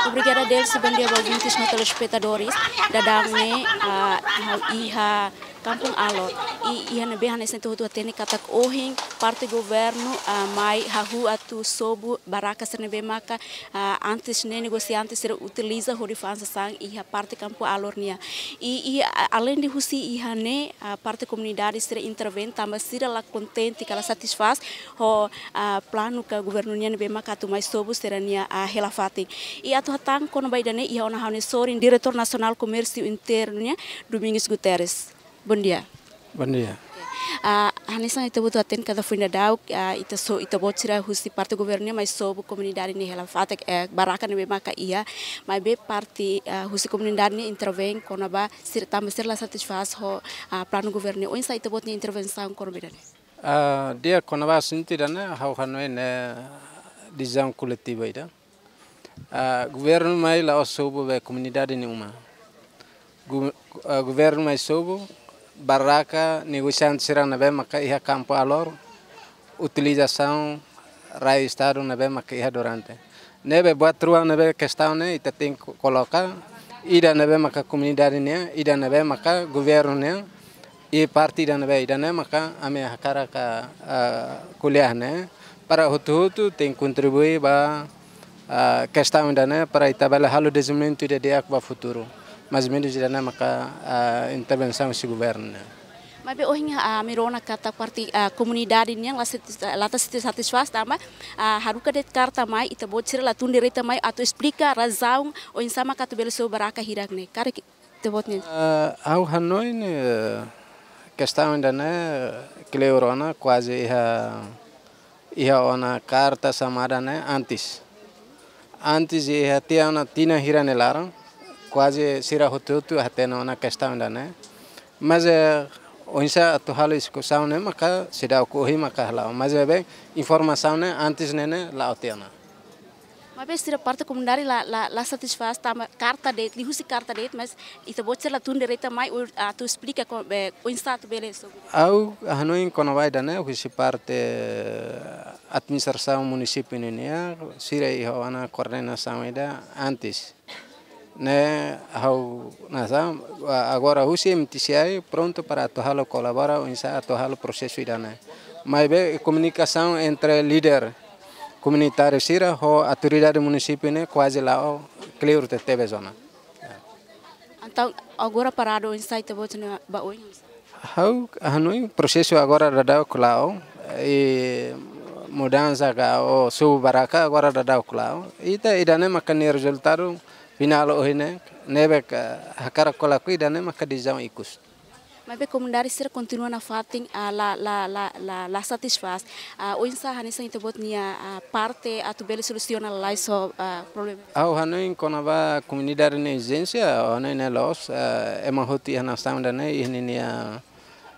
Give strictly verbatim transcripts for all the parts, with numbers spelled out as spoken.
Obrigada, Delcy. Bondia ba ouvintes no telespetadores. Daudaun ne'e, ah, ha'u iha Kampung Alor. I iha ne'ebé hanesan ita hotu hatene katak ohin parte governu, ah, mai hahú atu sobu barraka sira ne'ebé maka, ah, antes ne'e negosiante sira utiliza hodi fa'an sasán iha parte Kampung Alor nian. I, i, a-, alende husi iha ne'e, ah, parte komunidade sira intervein tanba sira la kontente ka la satisfás ho, ah, planu ka governu nian ne'ebé maka atu mai sobu sira-nia, ah, hela fatin. I atu hatán kona-ba ida-ne'e iha ona ha'u-nia sorin Diretór Nasionál Komérsiu Internu nian, Domingos Guterres. Bondia. Bondia. Ah, hanesan ita hotu hatene katak foin daudauk, ah, ita so, ita-boot sira husi parte governu nian mai sobu komunidade nia hela fatin, eh, barraka ne'ebé maka iha, maibé parte, ah, husi komunidade nian intervein kona-ba sira tanba sira la satisfás ho, ah, planu governu nian. Oinsá ita-boot nia intervensaun kona-ba ida-ne'e? Ah, di'ak, kona-ba asuntu ida-ne'e, ha'u hanoin ne'e desizaun koletivu ida. Ah, governu mai la'ós sobu ba komunidade nia uma. Gu-, ah, governu mai sobu barraka negosiante sira ne'ebé maka iha Kampung Alor, utilizasaun rai Estadu ne'ebé maka iha durante. Ne'ebé buat rua ne'ebé kestaun ne'e ita tenke ko-, koloka, ida ne'ebé maka komunidade nian, ida ne'ebé maka governu nian, i parte ida ne'ebé, ida-ne'e maka ami hakarak, ah, ko'alia ne'e, para hotu-hotu tenke kontribui ba, ah, kestaun ida-ne'e para ita bele halo dezenvolvimentu ida di'ak ba futuru. Mais ou menus ida-ne'e maka, ah, intervensaun husi governu ne'e. Maibé ohin, ah, ami rona katak parte, ah, komunidade nian la sati-, la ta sati-, satisfás tanba, ah, haruka de'it karta mai, ita-boot sira la tun direta mai atu esplika razaun oinsá maka atu bele sobu barraka hirak ne'e. Karik ita-boot nian. Ah, ha'u hanoin, eh, kestaun ida-ne'e kleur ona kuaze iha, iha ona karta xamada ne'e antes. Antes iha tiha ona tinan hira nia laran, kuaze sira hotu-hotu hatene ona kestaun ida-ne'e. Mais, eh, oinsá atu halo diskusaun ne'e maka seidauk ohin maka hala'o. Mais, eh, be, informasaun ne'e antes ne'e ne'e la'o tiha ona. Maibé sira parte komunidade la, la, la satisfás tanba karta de'it, liuhusi karta de'it, mais ita-boot sira la tun direta mai atu esplika ko-, be, oinsá atu bele sobu. Ha'u hanoin kona-ba ida-ne'e husi parte administrasaun munisípiu nian, sira iha ona koordenasaun ida antes. Ne'e ha'u hanesan, agora husi M T C I prontu para atu halo kolabora, oinsá atu halo prosesu ida-ne'e. Maibé komunikasaun entre líder komunitáriu sira ho autoridade munisípiu ne'e kuaze la'o kleur tebetebes ona. Entaun, agora paradu oinsá ita-boot nian ba oin? Ha'u hanoin prosesu agora daudauk la'o, i mudansa ka ou sobu barraka agora daudauk la'o. Ita ida-ne'e maka nia rezultadu finál ohin ne'e, ne'ebé hakarak ka lakohi ida-ne'e maka desizaun ikus. Maibé komunidade sira kontinua nafatin, ah, la, la, la, la, la satisfás. Ah, oinsá hanesan ita-boot nia, ah, parte atu bele solusiona lalais ho, ah, problema? Ha'u hanoin kona-ba komunidade nia ezijénsia, ha'u hanoin ne'e loos, ah, ema hotu iha nasaun ida-ne'e iha ninia,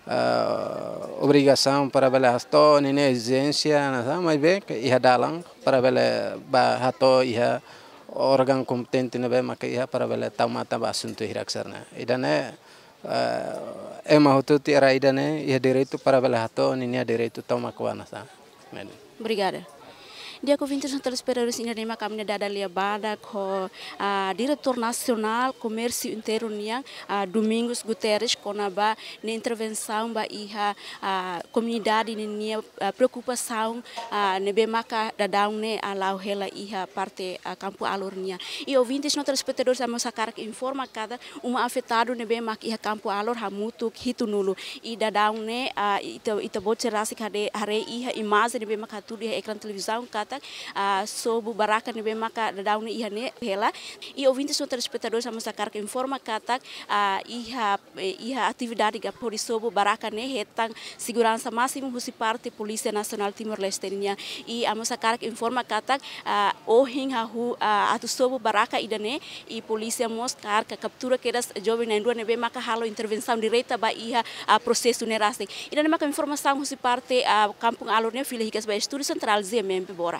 ah, obrigasaun para bele hato'o ninia ezijénsia, hanesan, maibé iha dalan para bele bá hato'o iha órgaun kompetente ne'ebé maka iha para bele tau matan ba asuntu hirak sira-ne'e. Ida-ne'e, eh, ema hotu-hotu iha rai ida-ne'e iha direitu para bele hato'o ninia direitu tomak ba nasaun. Obrigada. Di'ak, ouvintes no telespetadores, ida-ne'e maka ami-nia dada lia badak ho, ah, Diretór Nasionál Komérsiu Internu nian, ah, Domingos Guterres, kona-ba nia intervensaun ba iha, ah, komunidade ninia, ah, preokupasaun, ah, ne'ebé maka daudaun ne'e, ah, la'o hela iha parte, ah, Kampung Alor nian. I ouvintes no telespetadores, ami mós hakarak informa katak uma afetadu ne'ebé mak iha Kampung Alor hamutuk hitunulu. I daudaun ne'e, ah, ita, ita-boot sira rasik haree, haree iha imajen ne'ebé mak hatudu iha ekrán televizaun katak, ah, sobu barraka ne'ebé maka daudaun ne'e iha ne'e hela. I ouvintes no telespetadores, ami mós hakarak informa katak, ah, iha, eh, iha atividade ka hodi sobu barraka ne'e hetan seguransa másimu husi parte Polísia Nasionál Timor-Leste nian. I ami mós hakarak informa katak, ah, ohin hahú, ah, atu sobu barraka ida-ne'e, i polísia mós hakarak kaptura kedas joven na'in-rua ne'ebé maka halo intervensaun direta ba iha, ah, prosesu ne'e rasik. Ida-ne'e maka informasaun husi parte, ah, Kampung Alor nian, fila hikas ba Estúdiu Sentrál Z M M Pibora.